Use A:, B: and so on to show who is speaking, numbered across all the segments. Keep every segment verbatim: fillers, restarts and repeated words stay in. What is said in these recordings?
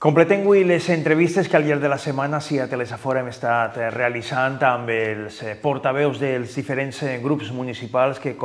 A: Completem avui les entrevistes que al llarg de la setmana sí a Telesafora hem estat realitzant amb els portaveus dels diferents grups municipals que,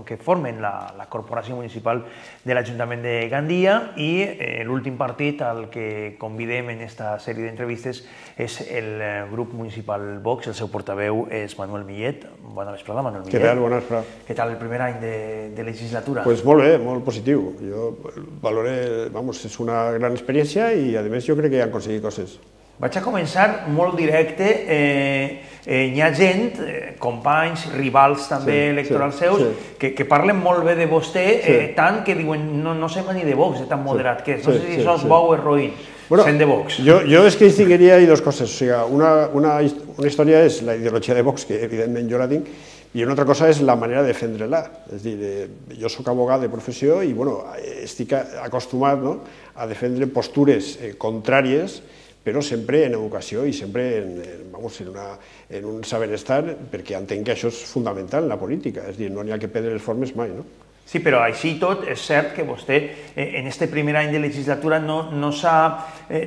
A: que formen la, la corporació municipal de l'Ajuntament de Gandia i eh, l'últim partit al que convidem en aquesta sèrie d'entrevistes és el grup municipal Vox, el seu portaveu és Manuel Millet. Bona vesprada, Manuel Millet.
B: Què tal? Bona vesprada.
A: Què tal el primer any de, de legislatura?
B: Pues molt bé, molt positiu. Jo valoré, vamos, és una gran experiència i a més jo crec que han aconseguit coses.
A: Vaig a començar molt directe. Eh, eh, hi ha gent, eh, companys, rivals també sí, electorals sí, seus, sí. Que, que parlen molt bé de vostè, sí. eh, tant que diuen no, no sembla ni de Vox, és tan moderat que és. No sí, sé si sí, això és sí. bo o és roïn, bueno, sent de Vox.
B: Jo, jo és que distinguiria dos coses. O sigui, una, una, una història és la ideologia de Vox, que evidentment jo la tinc, i una altra cosa és la manera de defendre-la. És a dir, jo soc abogat de professió i bueno, estic acostumat no, a defendre postures eh, contràries, però sempre en educació i sempre en, vamos, en, una, en un saber estar, perquè entenc que això és fundamental en la política, és a dir, no n'hi ha que perdre les formes mai, no?
A: Sí, però així tot és cert que vostè en aquest primer any de legislatura no, no s'ha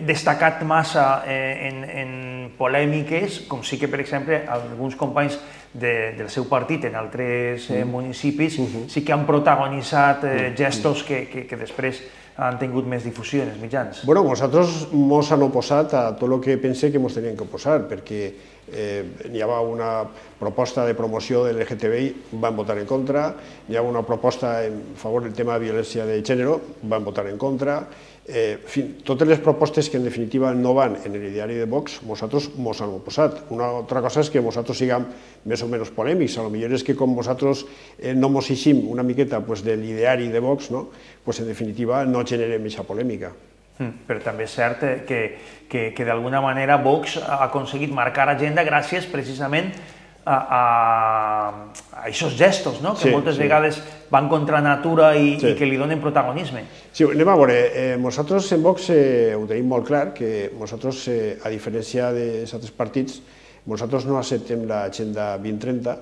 A: destacat massa en, en polèmiques, com sí que, per exemple, alguns companys de, del seu partit en altres mm. municipis mm-hmm. sí que han protagonitzat mm. gestos que, que, que després han tingut més difusió en els mitjans.
B: Bueno, nosaltres ens han oposat a tot el que pensé que ens tenien que oposar, perquè eh, hi havia una proposta de promoció de l'L G T B I, van votar en contra, hi havia una proposta en favor del tema de violència de gènere, van votar en contra. Eh, en fi, totes les propostes que en definitiva no van en l'ideari de Vox, nosaltres ens han oposat. Una altra cosa és que nosaltres siguem més o menys polèmics, a lo millor és que com nosaltres eh, no ens eixim una miqueta pues, de l'ideari de Vox, no? Pues, en definitiva no generem aquesta polèmica.
A: Mm, però també és cert que, que, que d'alguna manera Vox ha aconseguit marcar agenda gràcies precisament a, a, a aquests gestos, no? Que sí, moltes sí. vegades van contra natura i, sí. i que li donen protagonisme.
B: Sí, anem a veure, eh, nosaltres en Vox eh, ho tenim molt clar, que nosaltres, eh, a diferència dels altres partits, nosaltres no acceptem l'agenda vint trenta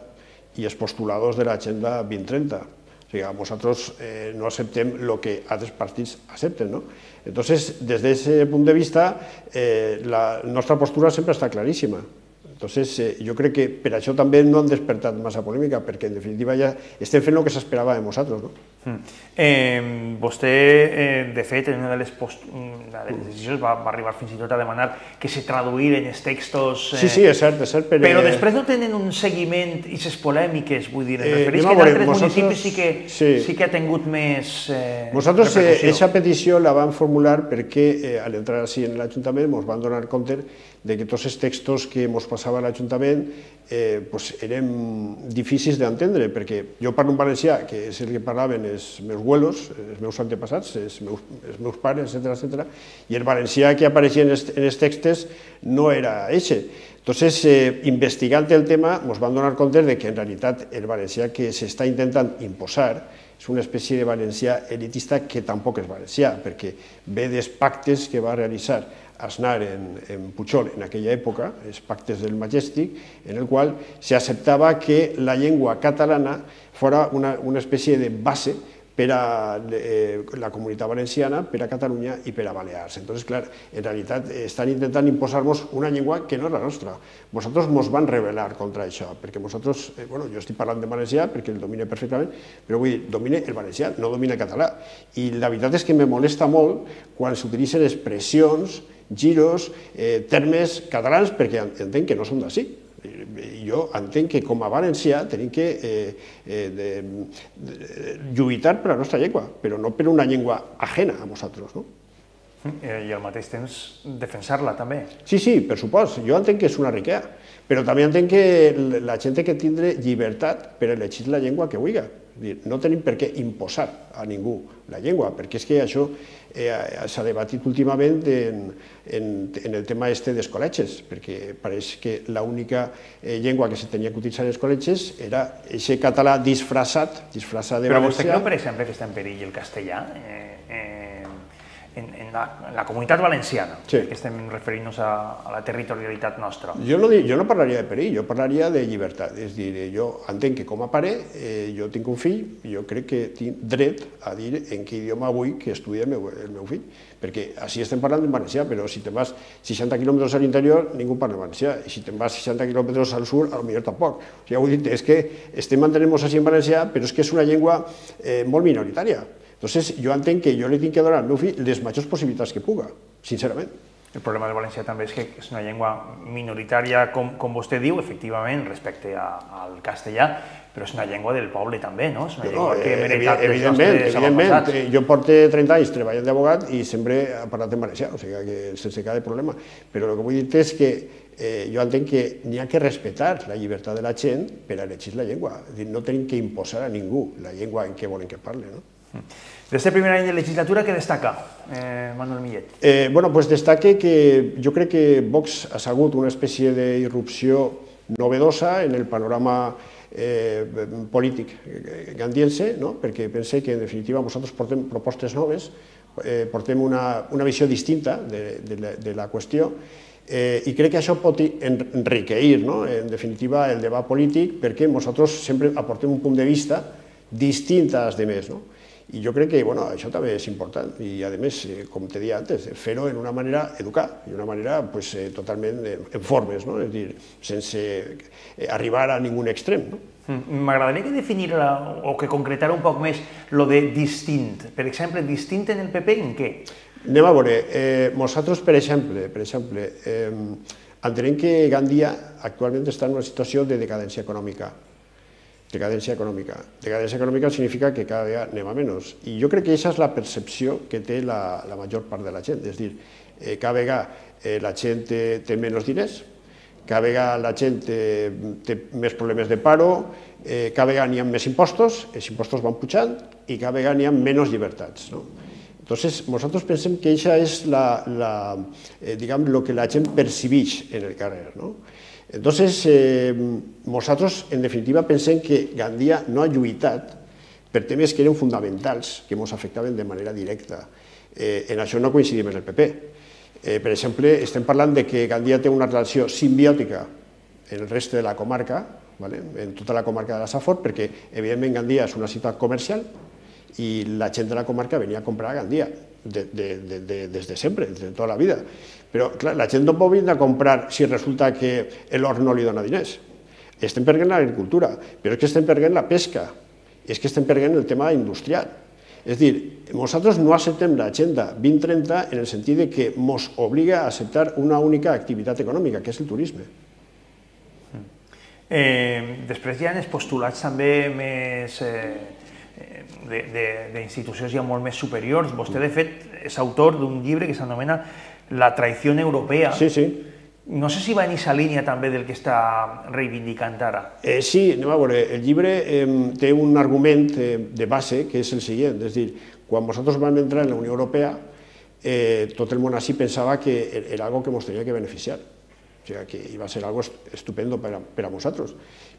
B: i els postuladors de l'agenda vint trenta. O sigui, nosaltres eh, no acceptem el que altres partits accepten, no? Entonces, des d'aquest punt de vista, eh, la nostra postura sempre està claríssima. Entonces, eh, jo crec que per això també no han despertat massa polèmica, perquè en definitiva ja estem fent el que s'esperava de nosaltres, no?
A: Mm. Eh, vostè, eh, de fet, en una de les, post... una de les decisions va, va arribar fins i tot a demanar que se traduïren els textos... Eh...
B: Sí, sí, és cert, és cert, però...
A: Però després no tenen un seguiment i les polèmiques, vull dir, em refereix eh, que en altres nosaltres... municipis sí que, sí. sí que ha tingut més eh,
B: nosaltres aquesta eh, petició la vam formular perquè eh, a l'entrar així en l'Ajuntament ens van donar compte de que tots els textos que ens passava a l'Ajuntament eh, pues, eren difícils d'entendre, perquè jo parlo en valencià, que és el que parlaven els meus abuelos, els meus antepassats, els meus, els meus pares, etcètera, etcètera, i el valencià que apareixia en els, en els textos no era eixe. Entonces, eh, investigant el tema, ens van donar compte de que en realitat el valencià que s'està intentant imposar és una espècie de valencià elitista que tampoc és valencià, perquè ve dels pactes que va realitzar Aznar en, en Pujol en aquella època, els pactes del Majestic, en el qual s'acceptava que la llengua catalana fora una, una espècie de base per a eh, la comunitat valenciana, per a Catalunya i per a Balears. Entonces, clar, en realitat estan intentant imposar-nos una llengua que no és la nostra. Nosaltres ens van rebel·lar contra això, perquè nosaltres, eh, bueno, jo estic parlant de valencià perquè el domine perfectament, però vull dir, domine el valencià, no domine el català. I la veritat és que me molesta molt quan s'utilitzen expressions, giros, eh, termes catalans, perquè entenc que no són d'ací. Jo entenc que com a valencià tenim que eh, eh, de, de, lluitar per la nostra llengua, però no per una llengua ajena a nosaltres, no?
A: I al mateix temps defensar-la també.
B: Sí, sí, per supost. Jo entenc que és una riquesa, però també entenc que la gent té que tindre llibertat per elegir la llengua que vulgui. No tenim per què imposar a ningú la llengua, perquè és que això eh, s'ha debatit últimament en, en, en el tema este dels col·legis, perquè pareix que l'única eh, llengua que se tenia que utilitzar en els col·legis era aquest català disfressat, disfressat de
A: Però
B: valencià.
A: vostè creu, per exemple, que està en perill el castellà? Eh, eh, en, en, la, en la comunitat valenciana,
B: sí.
A: que estem referint-nos a, a la territorialitat nostra.
B: Jo no, jo no parlaria de perill, jo parlaria de llibertat. És dir, jo entenc que com a pare eh, jo tinc un fill i jo crec que tinc dret a dir en què idioma vull que estudi el meu, el meu fill. Perquè així estem parlant en valencià, però si te'n vas seixanta quilòmetres a l'interior ningú parla valencià, i si te'n vas seixanta quilòmetres al sud, potser tampoc. O sigui, ho he dit, és que estem mantenint-nos així en valencià, però és que és una llengua eh, molt minoritària. Entonces, jo entenc que jo li tinc que donar al meu fill les majors possibilitats que puga, sincerament.
A: El problema del valencià també és que és una llengua minoritària, com, com vostè diu, efectivament, respecte a, al castellà, però és una llengua del poble també, no? És una llengua no, que hem heretat dels nostres avantpassats.
B: Jo porto trenta anys treballant d'abogat i sempre he parlat en valencià, o sigui que sense cap problema. Però el que vull dir és que eh, jo entenc que n'hi ha que respectar la llibertat de la gent per a elegir la llengua. És dir, no tenim que imposar a ningú la llengua en què volen que parli, no?
A: D'este primer any de legislatura, què destaca, eh, Manuel Millet?
B: Eh, bueno, pues destaque que jo crec que Vox ha sigut una espècie d'irrupció novedosa en el panorama eh, polític gandiense, no? Perquè pense que en definitiva nosaltres portem propostes noves, eh, portem una, una visió distinta de, de, la, de la qüestió, eh, i crec que això pot enriqueir, no? En definitiva, el debat polític, perquè nosaltres sempre aportem un punt de vista distint als demés, no? I jo crec que bueno, això també és important i, a més, com te deia antes, fer-ho en una manera educada, i una manera pues, totalment en formes, no? És dir, sense arribar a ningú extrem. No?
A: M'agradaria que definira o que concretara un poc més lo de distint. Per exemple, distint en el P P en què?
B: Anem a veure, eh, nosaltres, per exemple, per exemple eh, entenem que Gandia actualment està en una situació de decadència econòmica. Decadència econòmica. Decadència econòmica significa que cada vegada anem a menys. I jo crec que aquesta és la percepció que té la, la major part de la gent. És dir, eh, cada vegada eh, la gent té, té menys diners, cada vegada la gent té, té més problemes de paro, eh, cada vegada n'hi ha més impostos, els impostos van pujant i cada vegada n'hi ha menys llibertats. No? Entonces, nosaltres pensem que això és la, la, eh, diguem, lo que la gent percibeix en el carrer. No? Entonces, eh, nosaltres, en definitiva, pensem que Gandia no ha lluitat per temes que eren fonamentals, que ens afectaven de manera directa. Eh, en això no coincidim en el P P. Eh, per exemple, estem parlant de que Gandia té una relació simbiòtica en el reste de la comarca, ¿vale? En tota la comarca de la Safor, perquè, evidentment, Gandia és una ciutat comercial i la gent de la comarca venia a comprar a Gandia de, de, de, de, des de sempre, des de tota la vida. Però, clar, la gent no pot venir a comprar si resulta que l'hort no li dona diners. Estem perdent l'agricultura, però és que estem perdent la pesca, és que estem perdent el tema industrial. És dir, nosaltres no acceptem l'agenda vint trenta en el sentit de que ens obliga a acceptar una única activitat econòmica, que és el turisme.
A: Eh, després hi ha els postulats també més eh, d'institucions ja molt més superiors. Vostè, de fet, és autor d'un llibre que s'anomena La traición europea.
B: Sí, sí.
A: No sé si va en aquesta línia també del que està reivindicant ara.
B: Eh, sí, anem a veure, el llibre eh, té un argument eh, de base que és el següent, és dir, quan nosaltres vam entrar en la Unió Europea, eh, tot el món així pensava que era algo que ens tenia que beneficiar, o sigui, que iba a ser algo estupendo per a, per a nosaltres,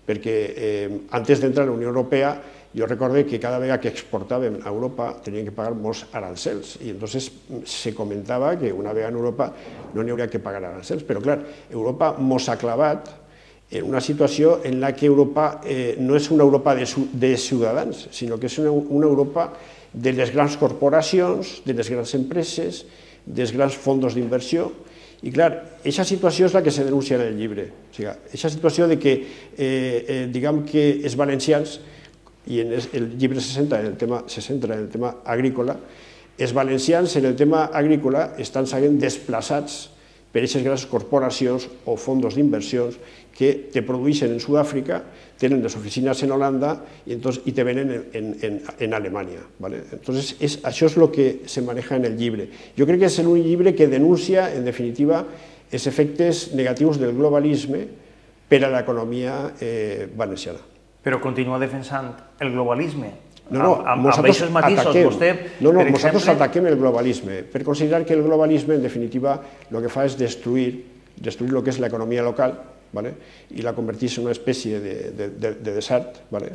B: perquè eh, antes d'entrar a la Unió Europea jo recordo que cada vegada que exportàvem a Europa teníem que pagar molts arancels i entonces se comentava que una vegada en Europa no n'hi hauria que pagar arancels, però clar, Europa mos ha clavat en una situació en la que Europa eh, no és una Europa de, de ciutadans, sinó que és una, una Europa de les grans corporacions, de les grans empreses, dels grans fondos d'inversió. I clar, aquesta situació és la que se denuncia en el llibre. O sigui, aquesta situació de que, eh, eh, diguem que els valencians, i en el llibre se centra en el tema, se centra en el tema agrícola, els valencians en el tema agrícola estan sent desplaçats per aquestes grans corporacions o fondos d'inversions que te produeixen en Sud-àfrica, tenen les oficines en Holanda i, entonces, i te venen en, en, en Alemanya. ¿Vale? Entonces, es, això és el que se maneja en el llibre. Jo crec que és un llibre que denuncia, en definitiva, els efectes negatius del globalisme per a l'economia eh, valenciana.
A: Però continua defensant el globalisme.
B: No, no,
A: amb, amb aquests matisos, vostè,
B: no, no,
A: per
B: nosaltres
A: exemple...
B: ataquem el globalisme, per considerar que el globalisme, en definitiva, el que fa és destruir, destruir el que és l'economia local, ¿vale? I la converteix en una espècie de, de, de, de desert, ¿vale?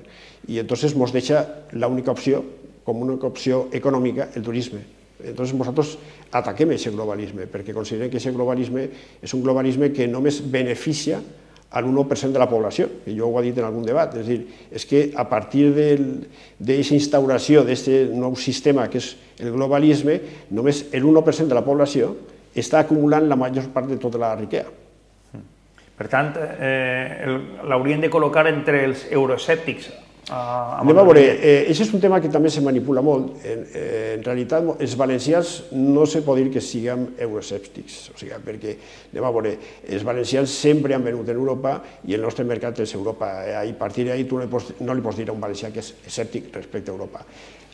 B: I entonces ens deixa l'única opció, com una opció econòmica, el turisme. Entonces nosaltres ataquem aquest globalisme, perquè considerem que aquest globalisme és un globalisme que només beneficia al uno per cent de la població, que jo ho he dit en algun debat, és a dir, és que a partir d'aquesta instauració d'aquest nou sistema que és el globalisme, només l'u per cent de la població està acumulant la major part de tota la riquesa.
A: Per tant, l'haurien de col·locar entre els euroescèptics.
B: Anem a veure, això és un tema que també se manipula molt. En realitat, els valencians no se pot dir que siguem euroescèptics, o sigui, perquè, anem a veure, els valencians sempre han venut en Europa i el nostre mercat és Europa. A partir d'ahí tu no li pots dir a un valencià que és escèptic respecte a Europa.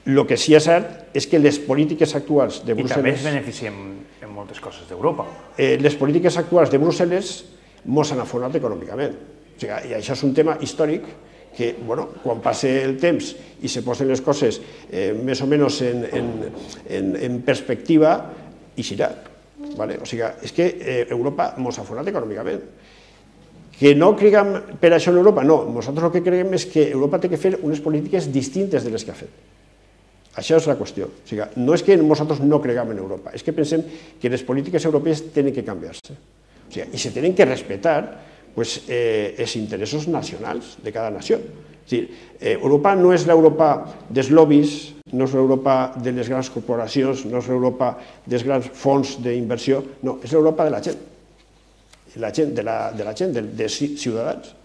B: El que sí és cert és que les polítiques actuals de Brussel·les...
A: I també es beneficiem en moltes coses d'Europa.
B: Les polítiques actuals de Brussel·les mos han afonat econòmicament. I això és un tema històric que, quan passa el temps i se posen les coses més o menys en perspectiva, hi serà. O sigui, és que Europa mos ha afonat econòmicament. Que no creguem per això en Europa? No, nosaltres el que creguem és que Europa té que fer unes polítiques distintes de les que ha fet. Això és la qüestió. No és que nosaltres no creguem en Europa, és que pensem que les polítiques europees tenen que canviar-se. I se tenen que respectar els interessos nacionals de cada nació. Europa no és l'Europa dels lobbies, no és l'Europa de les grans corporacions, no és l'Europa dels grans fons d'inversió, no, és l'Europa de la gent, de la gent, dels ciutadans.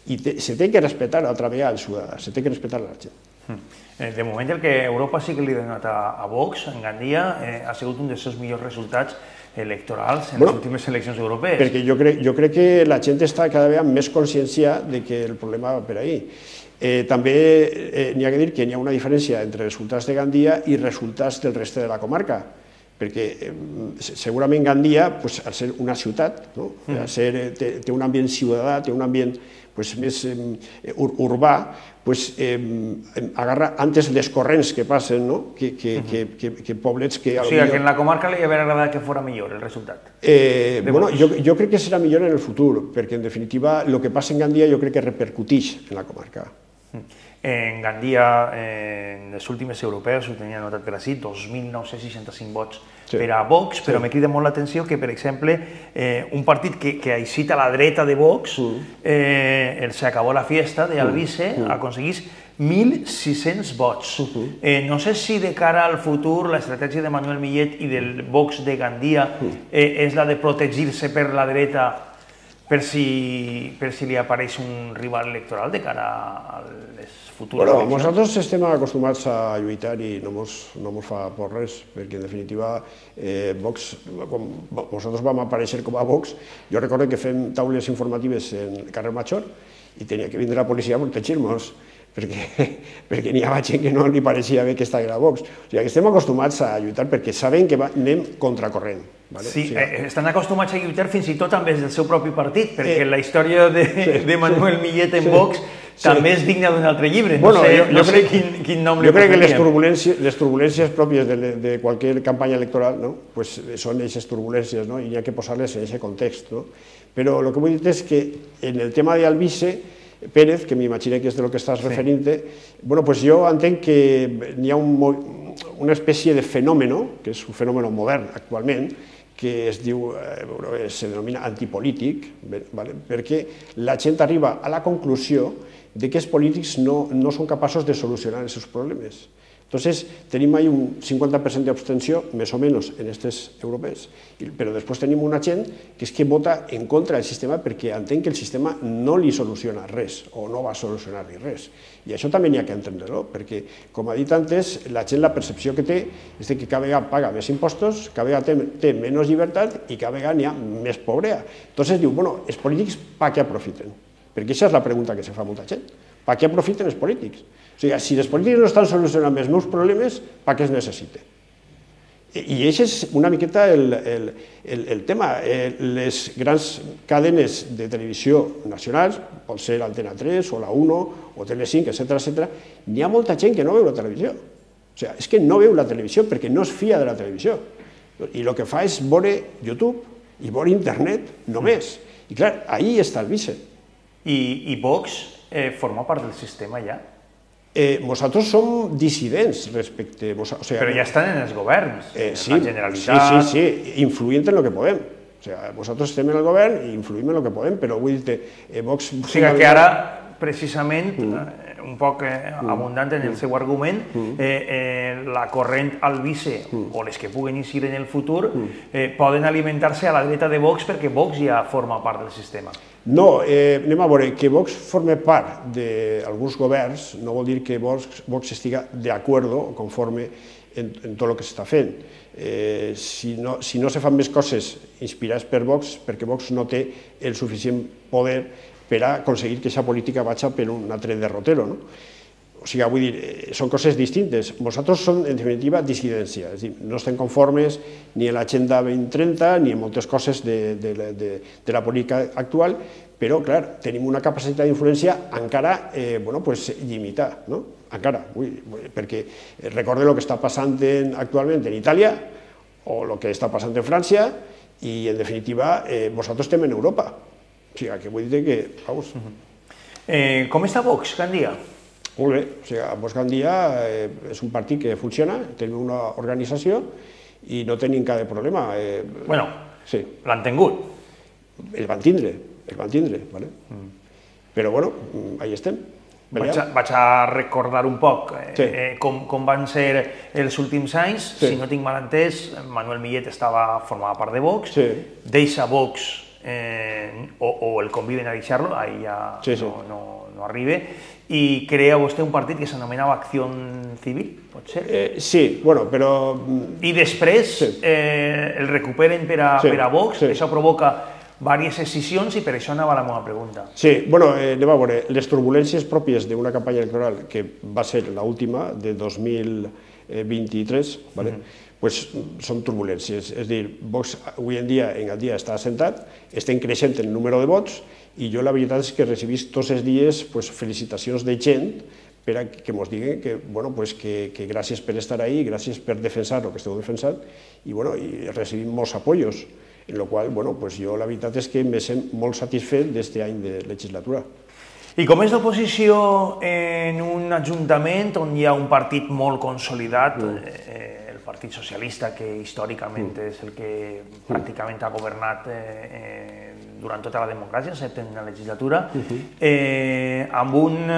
B: I se té que respectar altra vegada els ciutadans, se té que respectar la gent.
A: De moment el que Europa sí que li ha donat a Vox, en Gandia, ha sigut un dels seus millors resultats electorals en les últimes eleccions europees.
B: Perquè jo crec que la gent està cada vegada més consciència que el problema va per ahí. També n'hi ha que dir que n'hi ha una diferència entre resultats de Gandia i resultats del reste de la comarca, perquè segurament Gandia, al ser una ciutat, té un ambient ciutadà, té un ambient més urbà, agarra antes les corrents que passen que poblets que...
A: O sigui, que en la comarca li hauria agradat que fos millor el resultat.
B: Jo crec que serà millor en el futur, perquè en definitiva el que passa en Gandia jo crec que repercuteix en la comarca.
A: En Gandia, en les últimes europees, ho tenia notat per així, dos mil nou-cents seixanta-cinc vots per a Vox, però me crida molt l'atenció que, per exemple, un partit que aixita a la dreta de Vox, el Se acabó la fiesta, d'Albise, aconseguís mil sis-cents vots. No sé si de cara al futur l'estratègia de Manuel Millet i del Vox de Gandia és la de protegir-se per la dreta per si li apareix un rival electoral de cara a les futures eleccions?
B: Nosaltres estem acostumats a lluitar i no ens fa por res, perquè en definitiva Vox, quan nosaltres vam aparèixer com a Vox, jo recordo que fem taules informatives en el carrer Major i tenia que vindre la policia a protegir-nos, perquè n'hi havia gent que no li pareixia bé que estava a Vox. O sigui, estem acostumats a lluitar perquè sabem que anem contracorrent.
A: Sí, estan acostumats a lluitar fins i tot amb els del seu propi partit, perquè la història de Manuel Millet en Vox també és digna d'un altre llibre. No sé quin nom li posaríem.
B: Jo crec que les turbulències pròpies de qualsevol campanya electoral són aquestes turbulències i hi ha que posar-les en aquest context. Però el que vull dir és que en el tema d'Albise Pérez, que m'imagino que és del que estàs referint-te, jo entenc que n'hi ha una espècie de fenomen, que és un fenomen modern actualment, que es diu, se denomina antipolític, perquè la gent arriba a la conclusió que els polítics no són capaços de solucionar els seus problemes. Entonces, tenim ahí un cinquanta per cent d'abstenció, més o menys, en aquestes europees, però després tenim una gent que és que vota en contra del sistema perquè entén que el sistema no li soluciona res o no va solucionar-li res. I això també n'hi ha que entendre-ho, perquè, com ha dit antes, la gent la percepció que té és que cada vegada paga més impostos, cada vegada té menys llibertat i cada vegada n'hi ha més pobrea. Entonces diu, bueno, els polítics per què aprofiten? Perquè aquesta és la pregunta que se fa molta gent. Per què aprofiten els polítics? O sigui, si els polítics no estan solucionant els meus problemes, per què els necessite? I aquest és una miqueta el tema. Les grans cadenes de televisió nacionals, pot ser Antena tres o la uno o Telecinc, etcètera, etcètera, n'hi ha molta gent que no veu la televisió. O sigui, és que no veu la televisió perquè no es fia de la televisió. I el que fa és veure YouTube i veure internet només. I clar, ahí està el vice.
A: I Vox forma part del sistema ja?
B: Nosaltres som dissidents respecte...
A: Però ja estan en els governs, en
B: la
A: Generalitat...
B: Sí, sí, sí, influint en el que podem. Nosaltres estem en el govern i influïm en el que podem, però vull dir-te...
A: O sigui que ara, precisament, un poc abundant en el seu argument, la corrent albice, o les que puguen eixir en el futur, poden alimentar-se a la dreta de Vox perquè Vox ja forma part del sistema.
B: No, anem a veure, que Vox forma part d'alguns governs no vol dir que Vox estiga d'acord o conforme en tot el que s'està fent. Si no se fan més coses inspirades per Vox, perquè Vox no té el suficient poder per a aconseguir que aquesta política vagi per un altre derrotero. O sigui, vull dir, són coses distintes. Nosaltres som, en definitiva, dissidència. És a dir, no estem conformes ni en l'Agenda dos mil trenta ni en moltes coses de la política actual, però, clar, tenim una capacitat d'influència encara limitada, no? Encara, perquè recorde el que està passant actualment en Itàlia o el que està passant en França i, en definitiva, nosaltres estem en Europa. O sigui, que vull dir que...
A: Com està Vox, Gandia?
B: Molt bé, o sigui, Vox Gandia és un partit que funciona, tenim una organització i no tenim cap problema.
A: Bueno, l'han tingut.
B: El van tindre, el van tindre, però bueno, ahí estem.
A: Vaig a recordar un poc com van ser els últims anys. Si no tinc mal entès, Manuel Millet formava part de Vox, deixa Vox o el conviden a deixar-lo, ahí ja no arriba, i crea vostè un partit que s'anomenava Acció Civil, pot ser?
B: Sí, bueno, però...
A: I després el recuperen per a Vox, això provoca diverses escissions i per això anava la meva pregunta.
B: Sí, bueno, anem a veure, les turbulències pròpies d'una campanya electoral que va ser l'última, de dos mil vint-i-tres, són turbulències. És a dir, Vox avui en dia en el dia està assentat, estem creixent el número de vots i jo la veritat és que recibís tots els dies felicitacions de gent per a que ens diguen que gràcies per estar ahí, gràcies per defensar el que esteu defensant i recibim molts apoyos. En la qual cosa, jo la veritat és que em sent molt satisfet d'aquest any de legislatura.
A: I com és l'oposició en un ajuntament on hi ha un partit molt consolidat, el Partit Socialista, que històricament és el que pràcticament ha governat durant tota la democràcia, excepte en la legislatura, amb un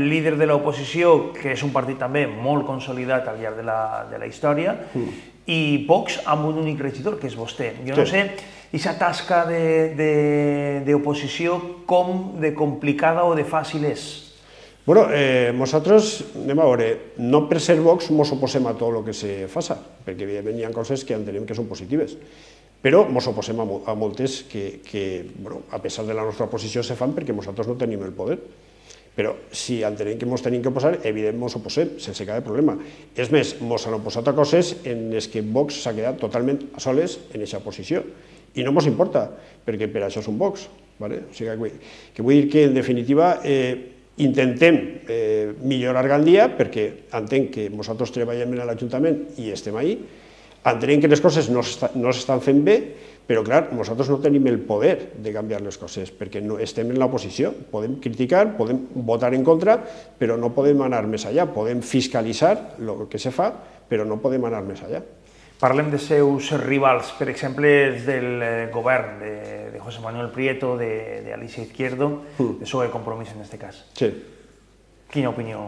A: líder de l'oposició que és un partit també molt consolidat al llarg de la història, i Vox amb un únic regidor, que és vostè. Jo no sé, aquesta tasca d'oposició, com de complicada o de fàcil és?
B: Bé, nosaltres, anem a veure, no per ser Vox ens oposem a tot el que se faça, perquè evidentment hi ha coses que entenem que són positives, però ens oposem a moltes que, a pesar de la nostra oposició, se fan perquè nosaltres no tenim el poder. Però si entenem que ens tenim que oposar, evidentment ens oposem, sense cap problema. És més, ens han oposat a coses en les que Vox s'ha quedat totalment a soles en aquesta posició. I no ens importa, perquè per això som Vox. O sigui, que vull dir que, en definitiva, intentem millorar Gandia, perquè entenc que nosaltres treballem en l'Ajuntament i estem ahí, entenem que les coses no s'estan fent bé, però, clar, nosaltres no tenim el poder de canviar les coses, perquè estem en l'oposició. Podem criticar, podem votar en contra, però no podem anar més allà. Podem fiscalitzar el que se fa, però no podem anar més allà.
A: Parlem de seus rivals, per exemple, els del govern, de José Manuel Prieto, d'Alicia Izquierdo, de P S O E Compromís en aquest cas.
B: Sí.
A: Quina opinió?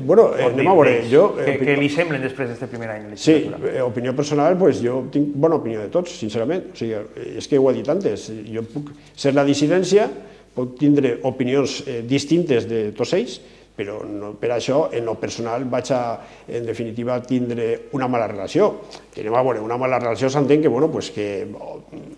B: Bueno, anem a veure, jo...
A: Què li semblen després d'aquest primer any de legislatura?
B: Sí, opinió personal, jo tinc bona opinió de tots, sincerament. O sigui, és que ho he dit antes, jo puc ser la dissidència, puc tindre opinions distintes de tots ells, però per això, en lo personal, vaig a, en definitiva, tindre una mala relació. Que anem a veure, una mala relació s'entén que, bueno, pues que...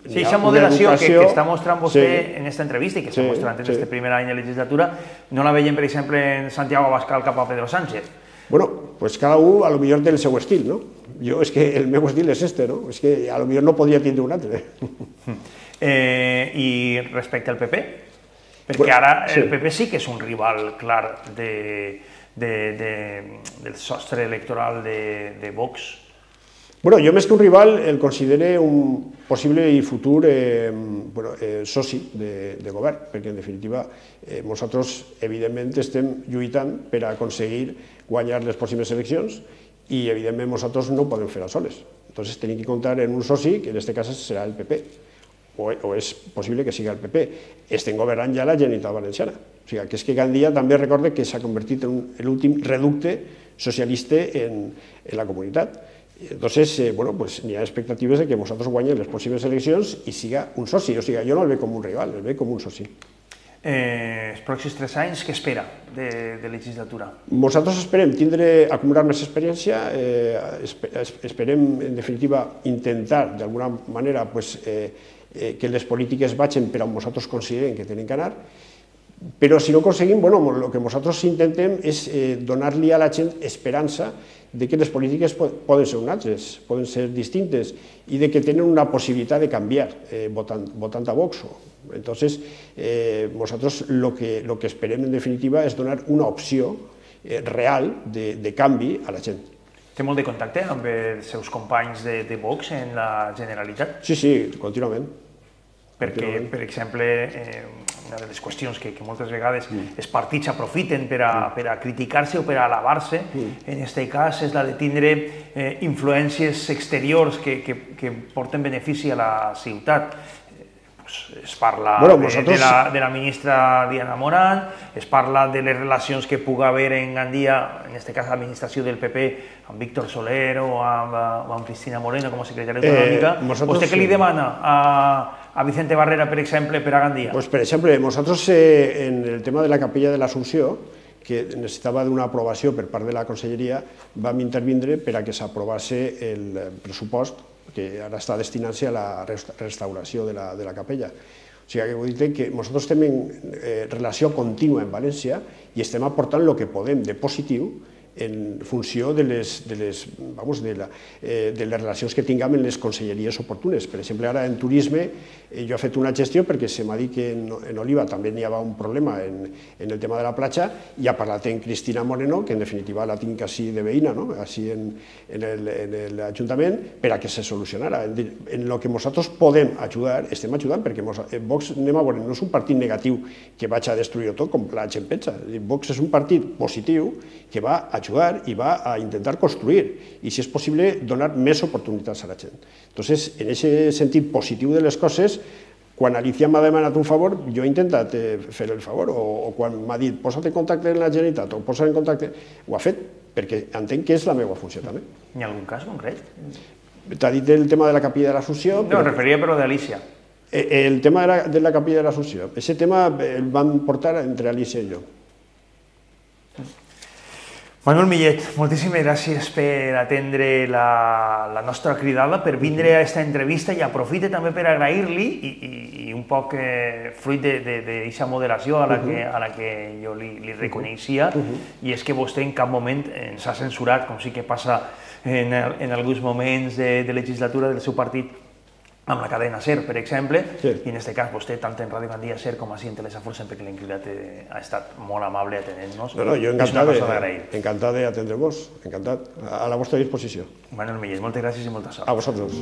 A: Sí, aquesta moderació que està mostrant vostè en aquesta entrevista i que està mostrant en aquest primer any de legislatura, no la veiem, per exemple, en Santiago Abascal cap a Pedro Sánchez.
B: Bueno, pues cada un, a lo millor, té el seu estil, no? Jo, és que el meu estil és este, no? És que a lo millor no podria tindre un altre.
A: I respecte al P P? Perquè ara el P P sí que és un rival clar del sostre electoral de Vox.
B: Bueno, jo més que un rival el considero un possible i futur eh, bueno, eh, soci de, de govern, perquè en definitiva eh, nosaltres evidentment estem lluitant per aconseguir guanyar les pròximes eleccions i evidentment nosaltres no ho podem fer a soles. Entonces tenim que comptar en un soci, que en aquest cas serà el P P, o, o és possible que sigui el P P. Estem governant ja la Generalitat Valenciana. O sigui, que és que Gandia també recorde que s'ha convertit en l'últim reducte socialista en, en la comunitat. Entonces, eh, bueno, pues n'hi ha expectatives de que nosaltres guanyem les pròximes eleccions i siga un soci. O sigui, jo no el veig com un rival, el veig com un soci.
A: Eh, els pròxims tres anys, què espera de, de legislatura?
B: Nosaltres esperem tindre, acumular més experiència, eh, esperem, en definitiva, intentar, d'alguna manera, pues, eh, eh, que les polítiques vagin per on nosaltres considerem que tenen que anar, però si no aconseguim, bueno, el que nosaltres intentem és eh, donar-li a la gent esperança de que les polítiques poden ser unes, poden ser distintes i de que tenen una possibilitat de canviar eh, votant, votant a Vox. Entonces, eh, nosaltres el que, lo que esperem en definitiva és donar una opció eh, real de, de canvi a la gent.
A: Té molt de contacte amb els seus companys de, de Vox en la Generalitat?
B: Sí, sí, contínuament.
A: Perquè, per exemple, eh, una de les qüestions que, que moltes vegades mm. els partits aprofiten per a, per a criticar-se o per a alabar-se, mm. en aquest cas és la de tindre eh, influències exteriors que, que, que porten benefici a la ciutat. Pues es parla bueno, de, vosaltres... de, la, de la ministra Diana Morant, es parla de les relacions que pugui haver en Gandia, en aquest cas l'administració del P P, amb Víctor Soler o amb, amb Cristina Moreno com a secretària autonòmica. Eh, vosaltres... ¿Vostè què li demana a, a Vicente Barrera, per exemple, per a Gandia?
B: Pues, per exemple, nosaltres eh, en el tema de la capella de l'Assumpció, que necessitava d'una aprovació per part de la Conselleria, vam intervindre per a que s'aprovase el pressupost que ara està destinant-se a la restauració de la, de la capella. O sigui, que vull dir que nosaltres tenim eh, relació contínua en València i estem aportant el que podem de positiu en funció de les, de les, vamos, de la, eh, de les relacions que tinguem en les conselleries oportunes. Per exemple, ara en turisme eh, jo he fet una gestió perquè se m'ha dit que en, en Oliva també n'hi havia un problema en, en el tema de la platja i ha parlat amb Cristina Moreno, que en definitiva la tinc així de veïna, no? Així en, en l'Ajuntament, per a que se solucionara. En, en el que nosaltres podem ajudar, estem ajudant, perquè mos, Vox, anem a veure, no és un partit negatiu que vaig a destruir tot com la gent pensa. Vox és un partit positiu que va a ajudar i va a intentar construir i, si és possible, donar més oportunitats a la gent. Entonces, en aquest sentit positiu de les coses, quan Alicia m'ha demanat un favor, jo he intentat fer el favor, o, o quan m'ha dit posa't en contacte amb la Generalitat o posa't en contacte, ho ha fet, perquè entenc que és la meva funció també.
A: Hi ha algun cas concret?
B: T'ha dit el tema de la capilla de l'Assumpció...
A: No, em referia però d'Alicia.
B: El tema de la, de la capilla de l'Assumpció, aquest tema el van portar entre Alicia i jo.
A: Manuel Millet, moltíssimes gràcies per atendre la, la nostra cridada, per vindre a aquesta entrevista i aprofite també per agrair-li i, i, i un poc eh, fruit d'aquesta moderació a la que, a la que jo li, li reconeixia, i és que vostè en cap moment ens ha censurat, com sí que passa en, en alguns moments de, de legislatura del seu partit, amb la cadena SER, per exemple, sí. I en aquest cas vostè, tant en Ràdio Gandia SER com així en Telesafor, sempre que l'hem cridat ha estat molt amable atenent-nos.
B: No, no, jo encantat, encantat d'atendre-vos, encantat, a la vostra disposició.
A: Manuel Millet, moltes gràcies i molta sort.
B: A vosaltres.